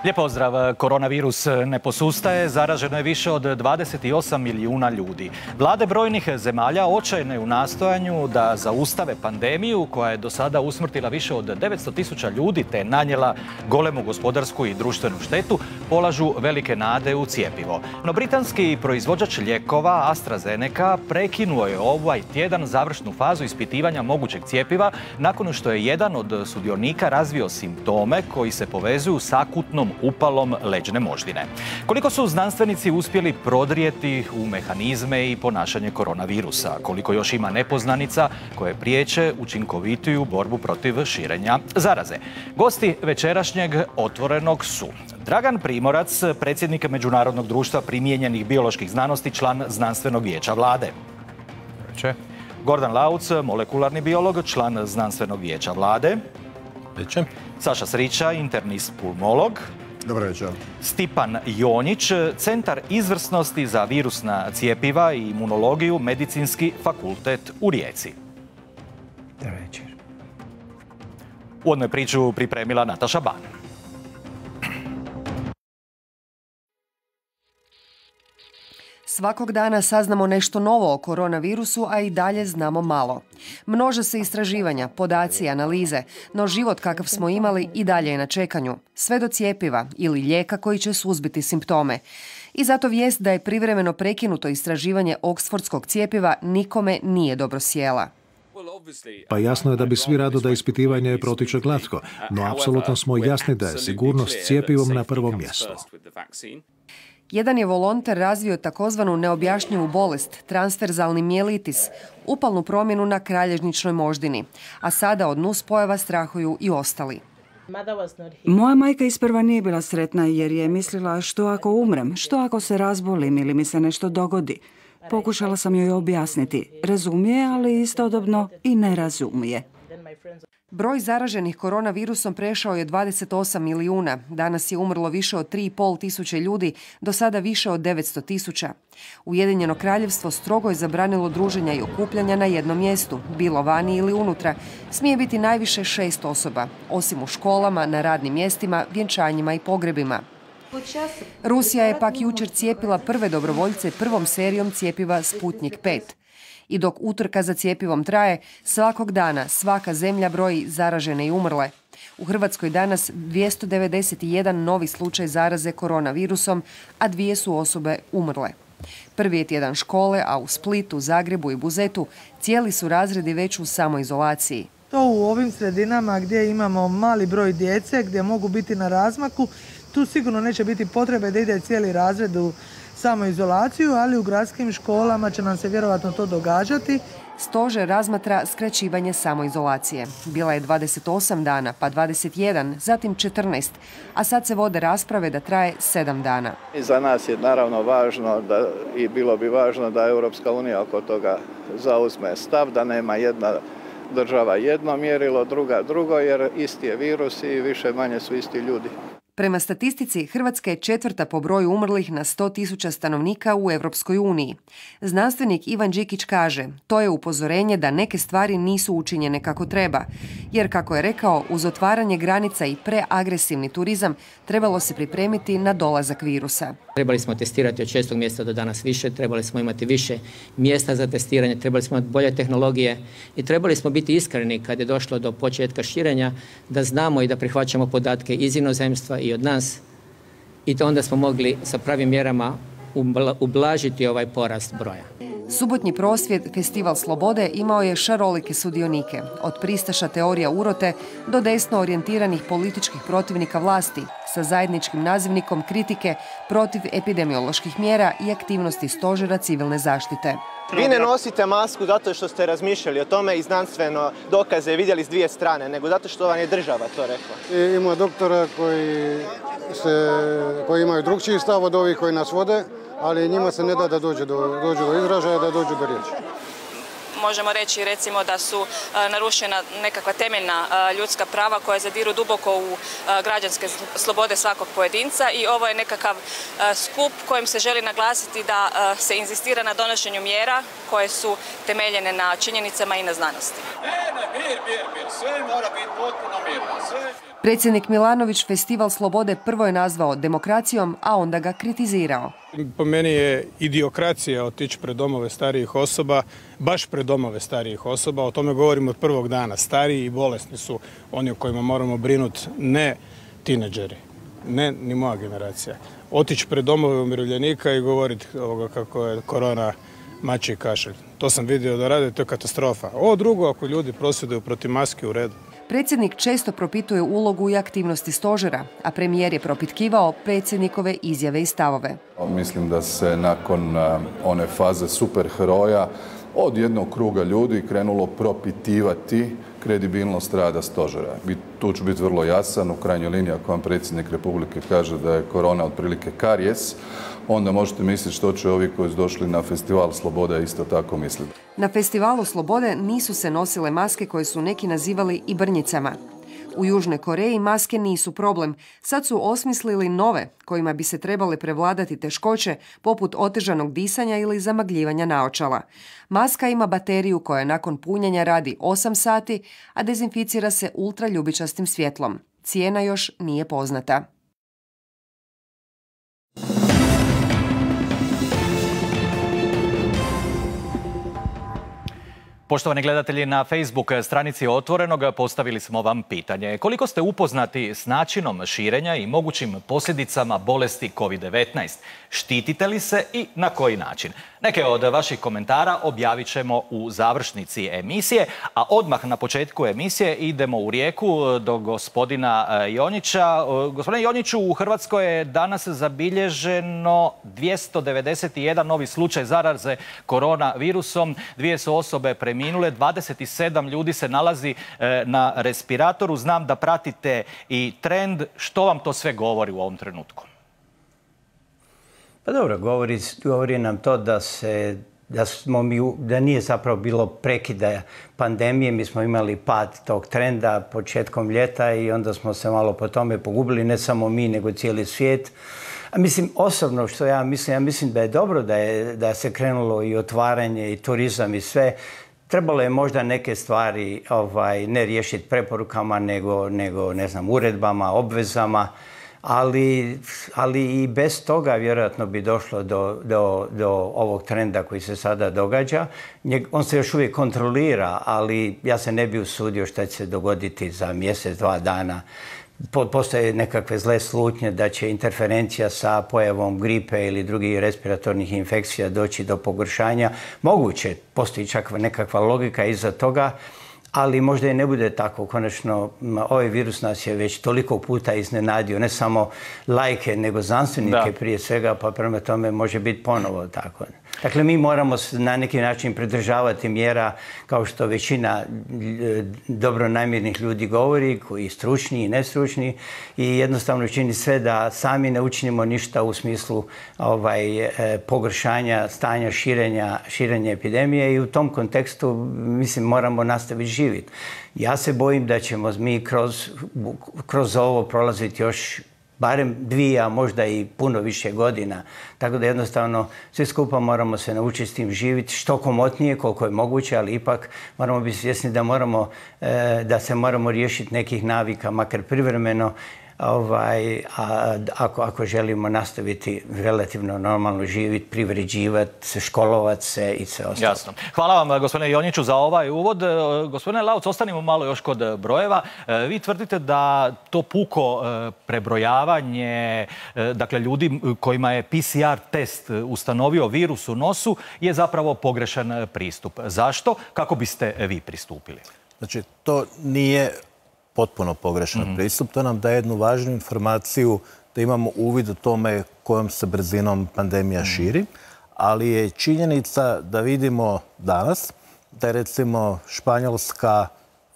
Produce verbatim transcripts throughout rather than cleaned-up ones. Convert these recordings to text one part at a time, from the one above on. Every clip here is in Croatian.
Lijep pozdrav. Koronavirus ne posustaje, zaraženo je više od dvadeset osam milijuna ljudi. Vlade brojnih zemalja očajne u nastojanju da zaustave pandemiju koja je do sada usmrtila više od devetsto tisuća ljudi te nanijela golemu gospodarsku i društvenu štetu, polažu velike nade u cjepivo. No britanski proizvođač lijekova AstraZeneca prekinuo je ovaj tjedan završnu fazu ispitivanja mogućeg cjepiva nakon što je jedan od sudionika razvio simptome koji se povezuju s akutnom upalom leđne moždine. Koliko su znanstvenici uspjeli prodrijeti u mehanizme i ponašanje koronavirusa? Koliko još ima nepoznanica koje priječe učinkovitiju borbu protiv širenja zaraze? Gosti večerašnjeg Otvorenog su Dragan Primorac, predsjednik Međunarodnog društva primijenjenih bioloških znanosti, član Znanstvenog vijeća Vlade. Veče. Gordan Lauc, molekularni biolog, član Znanstvenog vijeća Vlade. Veče. Saša Srića, internist pulmolog. Dobro večer. Stipan Jonjić, Centar izvrsnosti za virusna cjepiva i imunologiju, Medicinski fakultet u Rijeci. Dobro večer. Uvodnu je priču pripremila Nataša Ban. Svakog dana saznamo nešto novo o koronavirusu, a i dalje znamo malo. Množe se istraživanja, podaci, analize, no život kakav smo imali i dalje je na čekanju. Sve do cjepiva ili lijeka koji će suzbiti simptome. I zato vijest da je privremeno prekinuto istraživanje oksfordskog cjepiva nikome nije dobro sjela. Pa jasno je da bi svi rado da ispitivanje protiče glatko, no apsolutno smo jasni da je sigurnost cjepivom na prvom mjestu. Jedan je volonter razvio takozvanu neobjašnjivu bolest, transverzalni mijelitis, upalnu promjenu na kralježničnoj moždini, a sada od nuspojava strahuju i ostali. Moja majka isprva nije bila sretna jer je mislila što ako umrem, što ako se razbolim ili mi se nešto dogodi. Pokušala sam joj objasniti. Razumije, ali istodobno i ne razumije. Broj zaraženih koronavirusom prešao je dvadeset osam milijuna. Danas je umrlo više od tri i pol tisuće ljudi, do sada više od devetsto tisuća. Ujedinjeno kraljevstvo strogo je zabranilo druženja i okupljanja na jednom mjestu, bilo vani ili unutra. Smije biti najviše šest osoba, osim u školama, na radnim mjestima, vjenčanjima i pogrebima. Rusija je pak jučer cijepila prve dobrovoljce prvom serijom cjepiva Sputnik pet. I dok utrka za cjepivom traje, svakog dana svaka zemlja broji zaražene i umrle. U Hrvatskoj danas dvjesto devedeset jedan novi slučaj zaraze koronavirusom, a dvije su osobe umrle. Prvi je tjedan škole, a u Splitu, Zagrebu i Buzetu cijeli su razredi već u samoizolaciji. To u ovim sredinama gdje imamo mali broj djece, gdje mogu biti na razmaku, tu sigurno neće biti potrebe da ide cijeli razred u samoizolaciju, ali u gradskim školama će nam se vjerojatno to događati. Stožer razmatra skraćivanje samoizolacije. Bila je dvadeset osam dana, pa dvadeset jedan, zatim četrnaest, a sad se vode rasprave da traje sedam dana. I za nas je naravno važno da, i bilo bi važno da Europska unija oko toga zauzme stav, da nema jedna država jedno mjerilo, druga drugo, jer isti je virus i više manje su isti ljudi. Prema statistici, Hrvatska je četvrta po broju umrlih na sto tisuća stanovnika u Europskoj uniji. Znanstvenik Ivan Đikić kaže, to je upozorenje da neke stvari nisu učinjene kako treba, jer kako je rekao, uz otvaranje granica i preagresivni turizam trebalo se pripremiti na dolazak virusa. Trebali smo testirati od šestog mjesta do danas više, trebali smo imati više mjesta za testiranje, trebali smo imati bolje tehnologije i trebali smo biti iskreni kad je došlo do početka širenja, da znamo i da prihvaćamo podatke iz inozemstva i od nas, i to onda smo mogli sa pravim mjerama ublažiti ovaj porast broja. Subotnji prosvjed Festival slobode imao je šarolike sudionike, od pristaša teorija urote do desno orijentiranih političkih protivnika vlasti, sa zajedničkim nazivnikom kritike protiv epidemioloških mjera i aktivnosti stožera civilne zaštite. Vi ne nosite masku zato što ste razmišljali o tome i znanstveno dokaze vidjeli s dvije strane, nego zato što vam je država to rekla. I ima doktora koji, se, koji imaju drugčiji stav od ovih koji nas vode, ali njima se ne da da dođu do, dođu do izražaja, da dođu do riječi. možemo reći recimo da su narušena nekakva temeljna ljudska prava koja zadiru duboko u građanske slobode svakog pojedinca i ovo je nekakav skup kojim se želi naglasiti da se inzistira na donošenju mjera koje su temeljene na činjenicama i na znanosti. Predsjednik Milanović Festival slobode prvo je nazvao demokracijom, a onda ga kritizirao. Po meni je idiokracija otići pred domove starijih osoba, baš pred domove starijih osoba. O tome govorimo od prvog dana. Stariji i bolesni su oni o kojima moramo brinuti, ne tineđeri, ne ni moja generacija. Otići pred domove umirovljenika i govoriti kako je korona mačji kašelj. To sam vidio da rade, to je katastrofa. Ovo drugo, ako ljudi prosvjeduju protiv maske, u redu. Predsjednik često propituje ulogu i aktivnosti stožera, a premijer je propitkivao predsjednikove izjave i stavove. Mislim da se nakon one faze superheroja od jednog kruga ljudi krenulo propitivati kredibilnost rada stožera. I tu ću biti vrlo jasan, u krajnjoj liniji ako vam predsjednik Republike kaže da je korona otprilike karijes, onda možete misliti što će ovi koji su došli na Festival slobode isto tako misliti. Na Festivalu slobode nisu se nosile maske koje su neki nazivali i brnjicama. U Južnoj Koreji maske nisu problem. Sad su osmislili nove kojima bi se trebale prevladati teškoće poput otežanog disanja ili zamagljivanja naočala. Maska ima bateriju koja nakon punjenja radi osam sati, a dezinficira se ultraljubičastim svjetlom. Cijena još nije poznata. Poštovani gledatelji, na Facebook stranici Otvorenog postavili smo vam pitanje. Koliko ste upoznati s načinom širenja i mogućim posljedicama bolesti kovid devetnaest? Štitite li se i na koji način? Neke od vaših komentara objavit ćemo u završnici emisije, a odmah na početku emisije idemo u Rijeku do gospodina Jonjića. Gospodine Jonjiću, u Hrvatskoj je danas zabilježeno dvjesto devedeset jedan novi slučaj zaraze koronavirusom. Dvije su osobe preminule, dvadeset sedam ljudi se nalazi na respiratoru. Znam da pratite i trend. Što vam to sve govori u ovom trenutku? Pa dobro, govori, govori nam to da se da smo mi, da nije zapravo bilo prekida pandemije. Mi smo imali pad tog trenda početkom ljeta i onda smo se malo po tome pogubili, ne samo mi, nego cijeli svijet. A mislim, osobno što ja mislim, ja mislim da je dobro da, je, da se krenulo i otvaranje i turizam i sve. Trebalo je možda neke stvari ovaj, ne riješiti preporukama, nego, nego ne znam, uredbama, obvezama. Ali, ali i bez toga vjerojatno bi došlo do, do, do ovog trenda koji se sada događa. On se još uvijek kontrolira, ali ja se ne bi usudio šta će se dogoditi za mjesec, dva dana. Postoje nekakve zle slutnje da će interferencija sa pojavom gripe ili drugih respiratornih infekcija doći do pogoršanja. Moguće, postoji čak nekakva logika iza toga, ali možda i ne bude tako. Konačno, ovaj virus nas je već toliko puta iznenadio, ne samo lajke, nego znanstvenike da. Prije svega, pa prema tome može biti ponovo tako. Dakle, mi moramo na neki način pridržavati mjera, kao što većina dobronamjernih ljudi govori, koji stručni i nestručni, i jednostavno čini sve da sami ne učinimo ništa u smislu ovaj, pogoršanja stanja širenja, širenja epidemije, i u tom kontekstu, mislim, moramo nastaviti živjeti. Ja se bojim da ćemo mi kroz, kroz ovo prolaziti još barem dvije, a možda i puno više godina. Tako da jednostavno svi skupa moramo se naučiti s tim živjeti što komotnije, koliko je moguće, ali ipak moramo biti svjesni da, moramo, da se moramo riješiti nekih navika, makar privremeno, ovaj, a, ako, ako želimo nastaviti relativno normalno živjeti, privređivati, školovati se i sve ostalo. Jasno. Hvala vam, gospodine Jonjiću, za ovaj uvod. Gospodine Lauc, ostanimo malo još kod brojeva. Vi tvrdite da to puko prebrojavanje, dakle ljudi kojima je P C R test ustanovio virus u nosu, je zapravo pogrešan pristup. Zašto? Kako biste vi pristupili? Znači, to nije potpuno pogrešan mm-hmm. pristup. To nam daje jednu važnu informaciju da imamo uvid o tome kojom se brzinom pandemija mm-hmm. širi, ali je činjenica da vidimo danas da recimo Španjolska,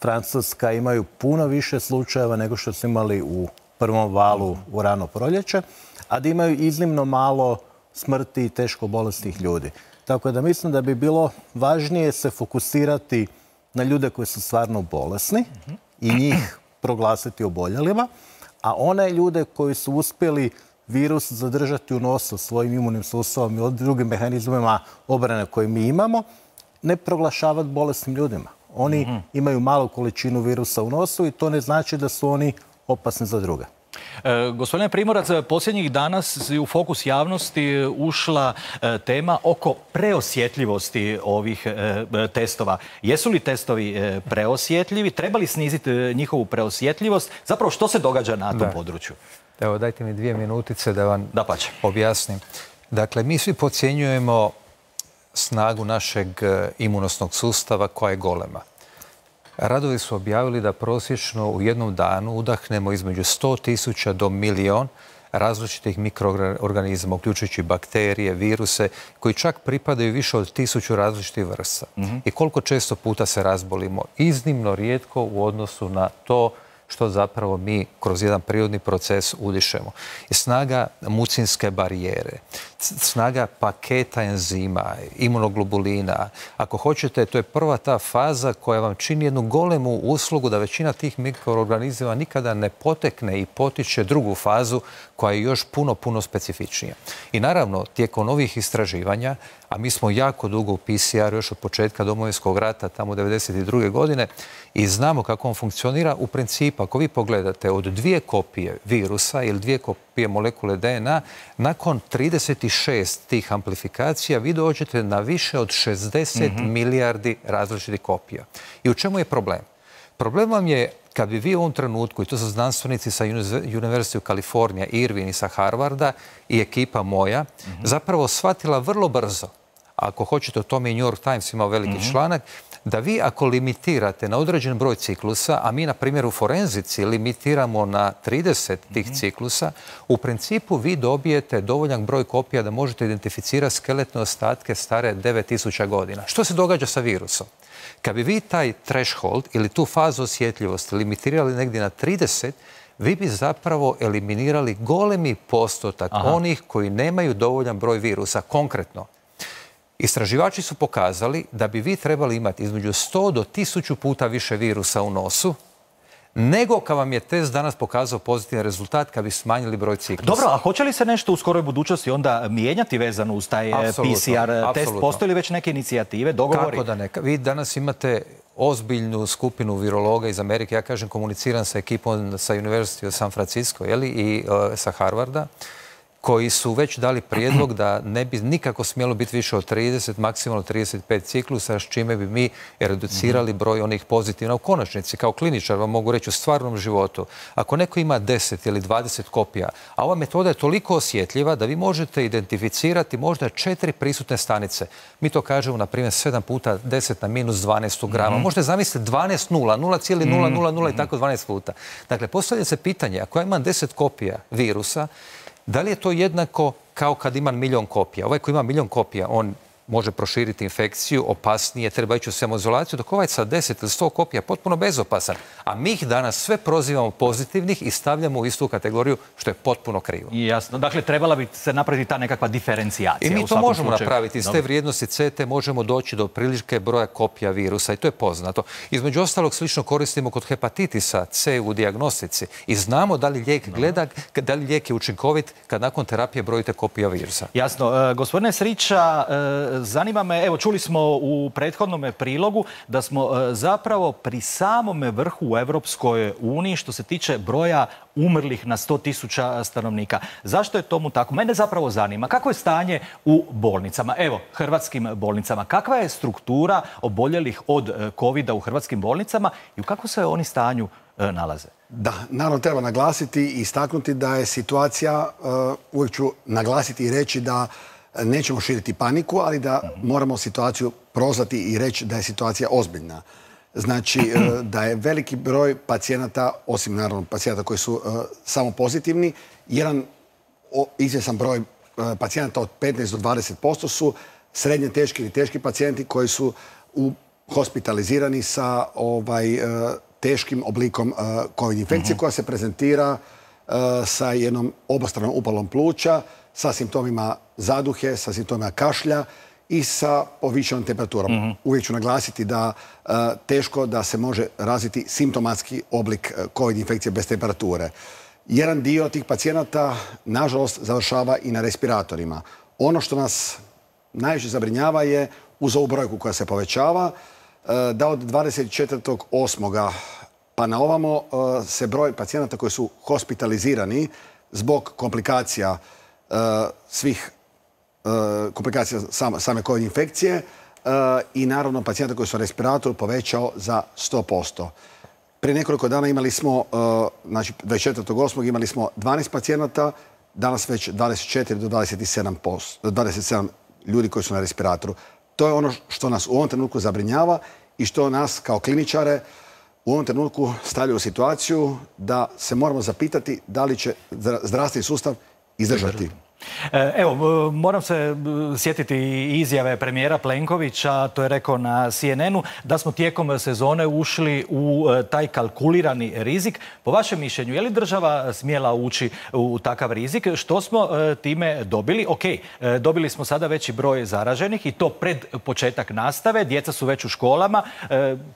Francuska imaju puno više slučajeva nego što su imali u prvom valu mm-hmm. u rano proljeće, a da imaju iznimno malo smrti i teško bolesnih ljudi. Tako da mislim da bi bilo važnije se fokusirati na ljude koji su stvarno bolesni i njih proglasiti oboljelima, a one ljude koji su uspjeli virus zadržati u nosu svojim imunim sustavom i drugim mehanizmima obrane koje mi imamo, ne proglašavati bolesnim ljudima. Oni mm-hmm. imaju malu količinu virusa u nosu i to ne znači da su oni opasni za druge. E, gospodine Primorac, posljednjih dana u fokus javnosti ušla e, tema oko preosjetljivosti ovih e, testova. Jesu li testovi e, preosjetljivi? Treba li sniziti njihovu preosjetljivost? Zapravo što se događa na tom da. području? Evo, dajte mi dvije minutice da vam da pače. objasnim. Dakle, mi svi podcjenjujemo snagu našeg imunosnog sustava koja je golema. Radovi su objavili da prosječno u jednom danu udahnemo između sto tisuća do milion različitih mikroorganizama, uključujući bakterije, viruse, koji čak pripadaju više od tisuću različitih vrsta. Mm-hmm. I koliko često puta se razbolimo? Iznimno rijetko u odnosu na to što zapravo mi kroz jedan prirodni proces udišemo. I snaga mucinske barijere, snaga paketa enzima, imunoglobulina. Ako hoćete, to je prva ta faza koja vam čini jednu golemu uslugu da većina tih mikroorganizama nikada ne potekne i potiče drugu fazu koja je još puno, puno specifičnija. I naravno, tijekom ovih istraživanja, a mi smo jako dugo u P C R još od početka Domovinskog rata, tamo devedeset druge godine, i znamo kako on funkcionira. U principu, ako vi pogledate od dvije kopije virusa ili dvije kopije molekule D N A, nakon trideset šest tih amplifikacija vi dođete na više od šezdeset mm-hmm. milijardi različitih kopija. I u čemu je problem? Problem vam je kad bi vi u ovom trenutku, i to su znanstvenici sa University of California, Irvine i sa Harvarda i ekipa moja, mm-hmm. zapravo shvatila vrlo brzo, ako hoćete, o tome i New York Times imao veliki mm-hmm. članak, da vi ako limitirate na određen broj ciklusa, a mi na primjer u forenzici limitiramo na trideset tih mm-hmm. ciklusa, u principu vi dobijete dovoljan broj kopija da možete identificirati skeletne ostatke stare devet tisuća godina. Što se događa sa virusom? Kad bi vi taj threshold ili tu fazu osjetljivosti limitirali negdje na trideset, vi bi zapravo eliminirali golemi postotak Aha. onih koji nemaju dovoljan broj virusa. Konkretno, istraživači su pokazali da bi vi trebali imati između sto do tisuću puta više virusa u nosu, nego kad vam je test danas pokazao pozitivan rezultat kad bi smanjili broj ciklusa. Dobro, a hoće li se nešto u skoroj budućnosti onda mijenjati vezano uz taj Apsolutno, P C R test? apsolutno. Postoje li već neke inicijative, dogovori? Kako da neka? Vi danas imate ozbiljnu skupinu virologa iz Amerike. Ja kažem, komuniciram sa ekipom sa University of San Francisco, jeli, i uh, sa Harvarda, koji su već dali prijedlog da ne bi nikako smjelo biti više od trideset, maksimalno trideset pet ciklusa, s čime bi mi reducirali broj onih pozitivna. U konačnici, kao kliničar vam mogu reći u stvarnom životu, ako neko ima deset ili dvadeset kopija, a ova metoda je toliko osjetljiva da vi možete identificirati možda četiri prisutne stanice. Mi to kažemo, na primjer, sedam puta deset na minus dvanaest grama. Mm-hmm. Možete zamisliti dvanaest nula, nula zarez nula nula nula i tako dvanaest puta. Dakle, postavlja se pitanje, ako ja imam deset kopija virusa, da li je to jednako kao kad imam milion kopija? Ovaj koji ima milion kopija, on može proširiti infekciju, opasnije, treba ići u samoizolaciju, dok ovaj sa deset ili sto kopija potpuno bezopasan. A mi ih danas sve prozivamo pozitivnih i stavljamo u istu kategoriju, što je potpuno krivo. Jasno. Dakle, trebala bi se napraviti ta nekakva diferencijacija. I mi to možemo napraviti. Iz te vrijednosti C T možemo doći do prilike broja kopija virusa i to je poznato. Između ostalog, slično koristimo kod hepatitisa C u dijagnostici i znamo da li lijek gleda, da li lijek je učinkovit kad nakon terapije brojite kopija virusa. Jasno. Gospodine Srića, zanima me, evo čuli smo u prethodnom prilogu da smo zapravo pri samome vrhu u Europskoj uniji što se tiče broja umrlih na sto tisuća stanovnika. Zašto je tomu tako? Mene zapravo zanima kako je stanje u bolnicama, evo, hrvatskim bolnicama. Kakva je struktura oboljelih od kovida u hrvatskim bolnicama i u kakvom se oni stanju nalaze? Da, naravno treba naglasiti i istaknuti da je situacija, uvijek ću naglasiti i reći da nećemo širiti paniku, ali da moramo situaciju prozvati i reći da je situacija ozbiljna. Znači, da je veliki broj pacijenata, osim naravno pacijenata koji su samo pozitivni, jedan izvjesan broj pacijenata od petnaest do dvadeset posto su srednje teški ili teški pacijenti koji su hospitalizirani sa ovaj, teškim oblikom COVID infekcije koja se prezentira sa jednom obostranom upalom pluća, sa simptomima zaduhe, sa simptomima kašlja i sa povišenom temperaturom. Mm-hmm. Uvijek ću naglasiti da uh, teško da se može razviti simptomatski oblik uh, COVID infekcije bez temperature. Jedan dio tih pacijenata, nažalost, završava i na respiratorima. Ono što nas najviše zabrinjava je, uz ovu brojku koja se povećava, uh, da od dvadeset četvrtog osmog pa na ovamo uh, se broj pacijenata koji su hospitalizirani zbog komplikacija uh, svih komplikacija same COVID infekcije i naravno pacijenta koji su na respiratoru povećao za sto posto. Prije nekoliko dana imali smo, znači dvadeset četvrtog osmog imali smo dvanaest pacijenata, danas već dvadeset četiri do dvadeset sedam ljudi koji su na respiratoru. To je ono što nas u ovom trenutku zabrinjava i što nas kao kliničare u ovom trenutku stavlja u situaciju da se moramo zapitati da li će zdravstveni sustav izdržati. Evo, moram se sjetiti izjave premijera Plenkovića, to je rekao na C N N-u, da smo tijekom sezone ušli u taj kalkulirani rizik. Po vašem mišljenju, je li država smjela ući u takav rizik? Što smo time dobili? Ok, dobili smo sada veći broj zaraženih i to pred početak nastave, djeca su već u školama,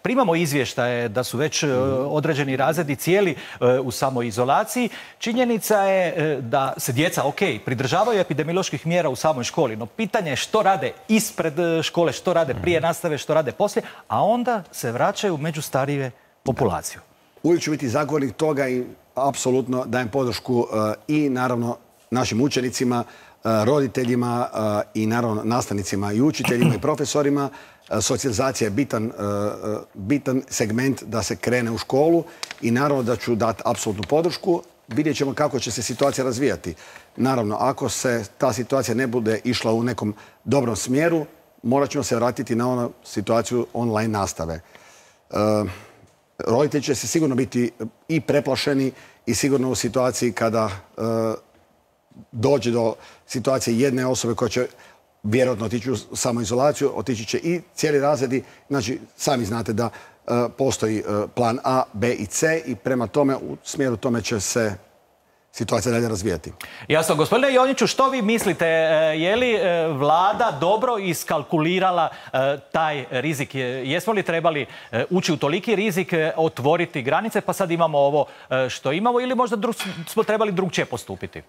primamo izvještaje da su već određeni razredi cijeli u samoizolaciji. Činjenica je da se djeca, ok, pridržavaju epidemioloških mjera u samoj školi, no pitanje je što rade ispred škole, što rade prije nastave, što rade poslije, a onda se vraćaju među starije populaciju. Uvijek ću biti zagovornik toga i apsolutno dajem podršku i naravno našim učenicima, roditeljima i naravno nastavnicima i učiteljima i profesorima. Socijalizacija je bitan, bitan segment da se krene u školu i naravno da ću dati apsolutnu podršku. Vidjet ćemo kako će se situacija razvijati. Naravno, ako se ta situacija ne bude išla u nekom dobrom smjeru, morat ćemo se vratiti na onu situaciju online nastave. E, roditelji će se sigurno biti i preplašeni i sigurno u situaciji kada e, dođe do situacije jedne osobe koja će vjerojatno otići u samoizolaciju, otići će i cijeli razredi. Znači, sami znate da e, postoji e, plan A, B i C i prema tome, u smjeru tome će se situacija dalje razvijati. Jasno. Gospodine Jonjiću, što vi mislite? Je li vlada dobro iskalkulirala taj rizik? Jesmo li trebali ući u toliki rizik, otvoriti granice, pa sad imamo ovo što imamo, ili možda smo trebali drugčije postupiti?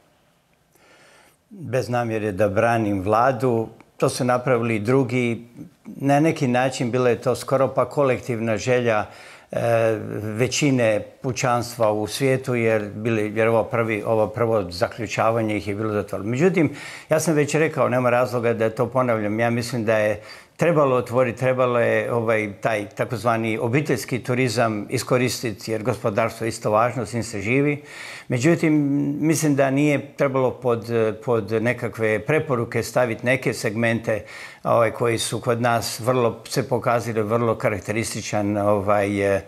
Bez namjere da branim vladu, to su napravili drugi. Na neki način bila je to skoro pa kolektivna želja većine pučanstva u svijetu, jer, bili, jer ovo, prvi, ovo prvo zaključavanje ih je bilo zatvoreno. Međutim, ja sam već rekao, nema razloga da to ponavljam. Ja mislim da je trebalo otvoriti, trebalo je ovaj, taj takozvani obiteljski turizam iskoristiti, jer gospodarstvo je isto važno, s njim se živi. Međutim, mislim da nije trebalo pod, pod nekakve preporuke staviti neke segmente ovaj, koji su kod nas vrlo, se pokazali vrlo karakterističan ovaj, e,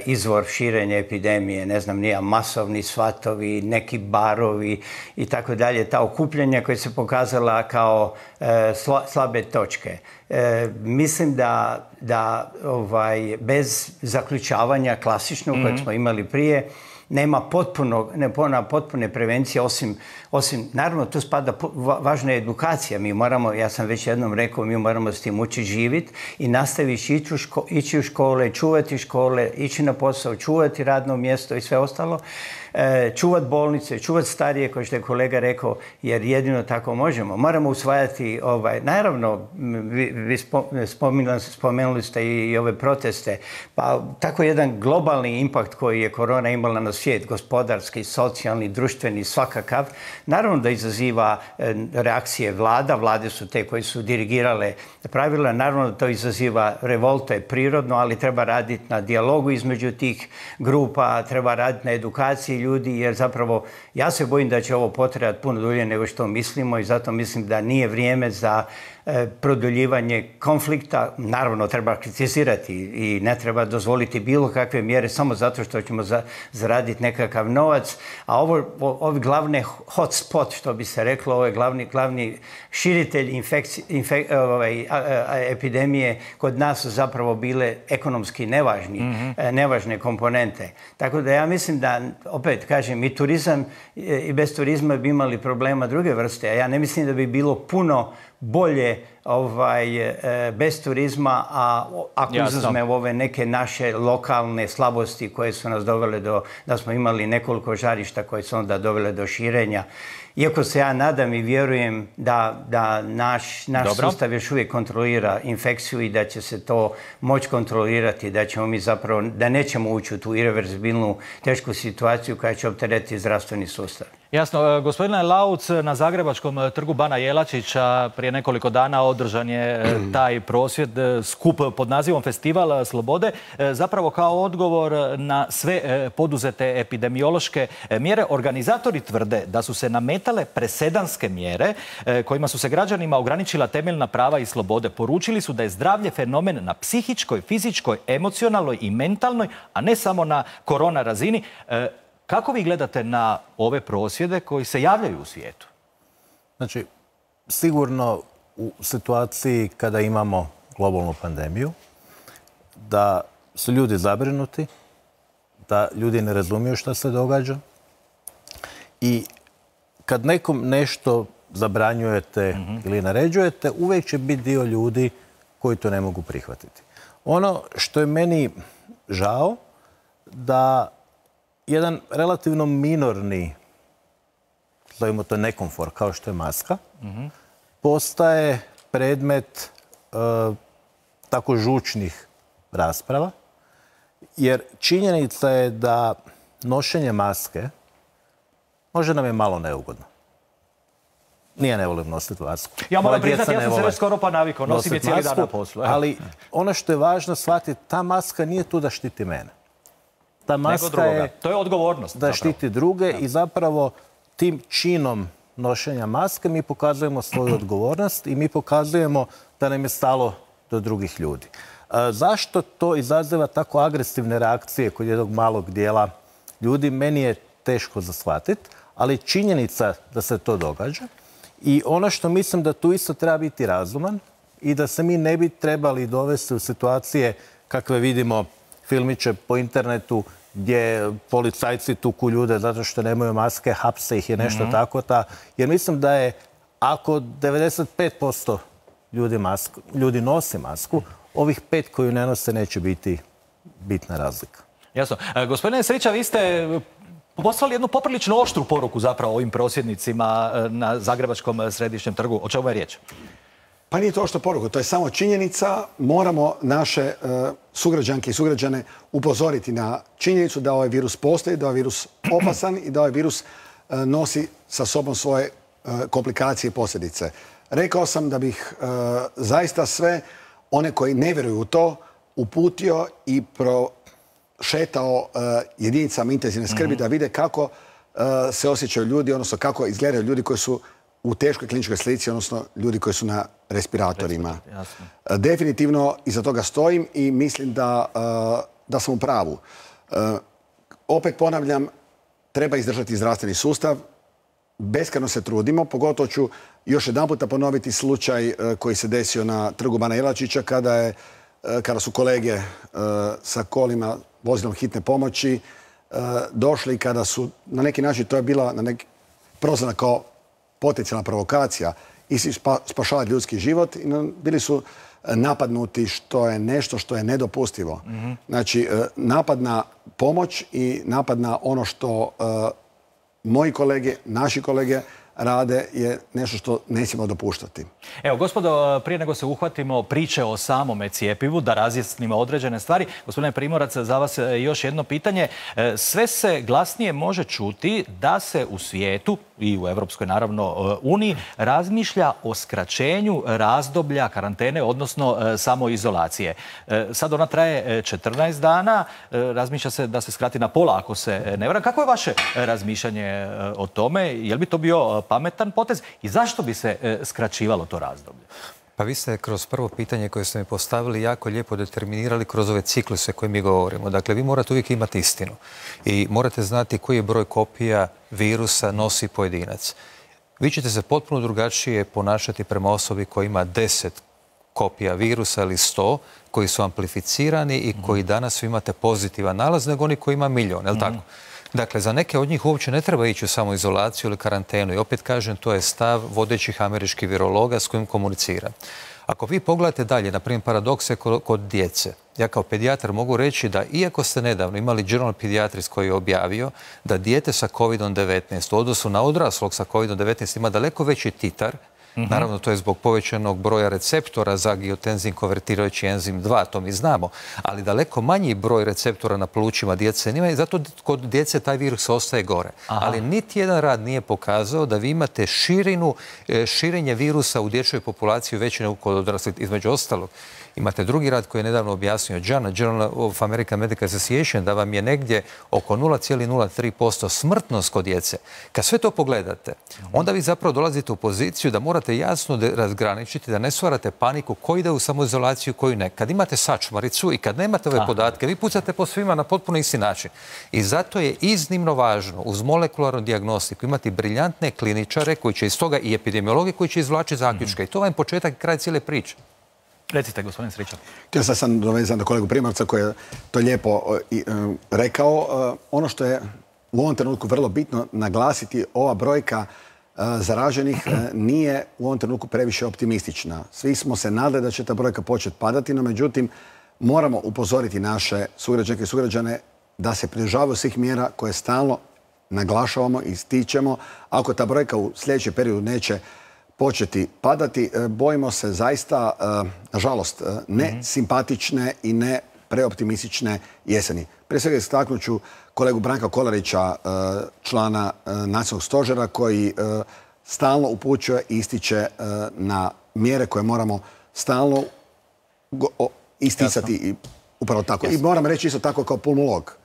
izvor širenja epidemije. Ne znam, nije masovni svatovi, neki barovi i tako dalje. Ta okupljanja koja se pokazala kao e, sla, slabe točke. E, mislim da, da ovaj, bez zaključavanja klasičnog mm-hmm. kojeg smo imali prije, nema potpuno, ne, potpune prevencije, osim, osim, naravno, tu spada važna edukacija. Mi moramo, ja sam već jednom rekao, mi moramo s tim učiti živjeti i nastaviti ići u, ško, ići u škole, čuvati škole, ići na posao, čuvati radno mjesto i sve ostalo. E, čuvati bolnice, čuvati starije, kao što je kolega rekao, jer jedino tako možemo. Moramo usvajati, ovaj, naravno, vi, vi spomenuli, spomenuli ste i, i ove proteste, pa tako jedan globalni impakt koji je korona imala na svijet, gospodarski, socijalni, društveni, svakakav, naravno da izaziva e, reakcije vlada. Vlade su te koje su dirigirale pravila, naravno da to izaziva revolte prirodno, ali treba raditi na dijalogu između tih grupa, treba raditi na edukaciji ljudi, jer zapravo ja se bojim da će ovo potrajati puno dulje nego što mislimo i zato mislim da nije vrijeme za produljivanje konflikta. Naravno, treba kritizirati i ne treba dozvoliti bilo kakve mjere samo zato što ćemo za, zaraditi nekakav novac. A ovo, ovi glavne hotspot, što bi se reklo, ovo je glavni, glavni širitelj infekci, infek, ovaj, a, a, epidemije kod nas su zapravo bile ekonomski nevažni, mm-hmm. nevažne komponente. Tako da ja mislim da, opet kažem, i turizam i bez turizma bi imali problema druge vrste. A ja ne mislim da bi bilo puno bolje ovaj, bez turizma, a ako izuzmemo ove neke naše lokalne slabosti koje su nas dovele do, da smo imali nekoliko žarišta koje su onda dovele do širenja. Iako se ja nadam i vjerujem da, da naš, naš sustav još uvijek kontrolira infekciju i da će se to moći kontrolirati, da ćemo mi zapravo, da nećemo ući u tu irreverzibilnu tešku situaciju koja će opteretiti zdravstveni sustav. Jasno. Gospodine Lauc, na Zagrebačkom trgu Bana Jelačića prije nekoliko dana održan je taj prosvjed, skup pod nazivom Festival slobode, zapravo kao odgovor na sve poduzete epidemiološke mjere. Organizatori tvrde da su se nametale presedanske mjere kojima su se građanima ograničila temeljna prava i slobode. Poručili su da je zdravlje fenomen na psihičkoj, fizičkoj, emocionalnoj i mentalnoj, a ne samo na korona razini. Kako vi gledate na ove prosvjede koji se javljaju u svijetu? Znači, sigurno u situaciji kada imamo globalnu pandemiju, da su ljudi zabrinuti, da ljudi ne razumiju što se događa i kad nekom nešto zabranjujete mm-hmm. ili naređujete, uvijek će biti dio ljudi koji to ne mogu prihvatiti. Ono što je meni žao, da jedan relativno minorni, zovimo to nekomfort, kao što je maska, mm-hmm. postaje predmet e, tako žučnih rasprava, jer činjenica je da nošenje maske može nam je malo neugodno. Nije ne volim nositi masku. Ja moram priznati, ja sam se već skoro pa navikao, nosim je cijeli dan na poslu. Ali ono što je važno shvatiti, ta maska nije tu da štiti mene. Ta maska je, to je odgovornost. Da štiti druge i zapravo tim činom nošenja maske mi pokazujemo svoju odgovornost i mi pokazujemo da nam je stalo do drugih ljudi. Zašto to izaziva tako agresivne reakcije kod jednog malog dijela ljudi, meni je teško za shvatiti, ali činjenica da se to događa. I ono što mislim da tu isto treba biti razuman i da se mi ne bi trebali dovesti u situacije kakve vidimo filmiće po internetu gdje policajci tuku ljude zato što nemaju maske, hapse ih je nešto mm-hmm. tako. Ta. Jer mislim da je, ako devedeset pet posto ljudi, masku, ljudi nosi masku, ovih pet koji ne nose neće biti bitna razlika. Jasno. E, gospodine Srića, vi ste poslali jednu poprilično oštru poruku zapravo ovim prosvjednicima na Zagrebačkom središnjem trgu. O čemu je riječ? Pa nije to oštra poruka, to je samo činjenica. Moramo naše uh, sugrađanke i sugrađane upozoriti na činjenicu da ovaj virus postoji, da ovaj virus opasan i da ovaj virus uh, nosi sa sobom svoje uh, komplikacije i posljedice. Rekao sam da bih uh, zaista sve one koji ne vjeruju u to uputio i prošetao uh, jedinicama intenzivne skrbi mm-hmm. da vide kako uh, se osjećaju ljudi, odnosno kako izgledaju ljudi koji su u teškoj kliničkoj slici, odnosno ljudi koji su na respiratorima. Jasno. Definitivno iza toga stojim i mislim da, da sam u pravu. Opet ponavljam, treba izdržati zdravstveni sustav. Beskrajno se trudimo, pogotovo ću još jedan puta ponoviti slučaj koji se desio na trgu Bana Jelačića kada, je, kada su kolege sa kolima, vozilom hitne pomoći došli i kada su na neki način, to je bila na neki prozvana kao potencijalna provokacija i spašavati ljudski život. I bili su napadnuti, što je nešto što je nedopustivo. Mm-hmm. Znači, napad na pomoć i napad na ono što uh, moji kolege, naši kolege rade je nešto što ne smijemo dopuštati. Evo, gospodo, prije nego se uhvatimo priče o samome cijepivu, da razjasnimo određene stvari. Gospodine Primorac, za vas još jedno pitanje. Sve se glasnije može čuti da se u svijetu i u Europskoj, naravno, Uniji razmišlja o skraćenju razdoblja karantene, odnosno samoizolacije. Sad ona traje četrnaest dana, razmišlja se da se skrati na pola, ako se ne varam. Kako je vaše razmišljanje o tome? Je li bi to bio pametan potez i zašto bi se skraćivalo to razdoblje? Pa vi ste kroz prvo pitanje koje ste mi postavili jako lijepo determinirali kroz ove cikluse koje mi govorimo. Dakle, vi morate uvijek imati istinu i morate znati koji je broj kopija virusa nosi pojedinac. Vi ćete se potpuno drugačije ponašati prema osobi koja ima deset kopija virusa ili sto koji su amplificirani i koji danas vi imate pozitivan nalaz nego oni koji ima milion, je li tako? Dakle, za neke od njih uopće ne treba ići u samoizolaciju ili karantenu. I opet kažem, to je stav vodećih američkih virologa s kojim komuniciram. Ako vi pogledate dalje, na primjer, paradokse kod djece, ja kao pedijatar mogu reći da iako ste nedavno imali Journal Pediatrics koji je objavio da dijete sa kovid devetnaest u odnosu na odraslog sa kovid devetnaest ima daleko veći titar, mm-hmm. naravno to je zbog povećanog broja receptora za angiotenzin konvertirajući enzim dva, to mi znamo, ali daleko manji broj receptora na plućima djece nema i zato kod djece taj virus ostaje gore. Aha. Ali niti jedan rad nije pokazao da vi imate širinu, širenje virusa u dječjoj populaciji veće nego kod odraslih, između ostalog. Imate drugi rad koji je nedavno objasnio Jana, Journal of American Medical Association, da vam je negdje oko nula zarez nula tri posto smrtnost kod djece. Kad sve to pogledate, onda vi zapravo dolazite u poziciju da morate jasno razgraničiti, da ne stvarate paniku ko ide u samoizolaciju, koji ne. Kad imate sačmaricu i kad nemate ove podatke, vi pucate po svima na potpuno isti način. I zato je iznimno važno uz molekularnu dijagnostiku imati briljantne kliničare koji će iz toga i epidemiologi koji će izvlačiti zaključke. I to vam je početak i kraj cijele priče. Recite, gospodin Stričak. Htio sam sam dovezan do kolegu Primorca koji je to lijepo rekao. Ono što je u ovom trenutku vrlo bitno naglasiti, ova brojka zaraženih nije u ovom trenutku previše optimistična. Svi smo se nadali da će ta brojka početi padati, no međutim moramo upozoriti naše sugrađanke i sugrađane da se pridržavaju svih mjera koje stalno naglašavamo i ističemo. Ako ta brojka u sljedećem periodu neće početi padati, bojimo se zaista, nažalost, ne simpatične i ne preoptimistične jeseni. Prije svega istaknut ću kolegu Branka Kolarića, člana Nacionalnog stožera, koji stalno upućuje i ističe na mjere koje moramo stalno isticati i upravo tako. I moram reći isto tako kao pulmolog.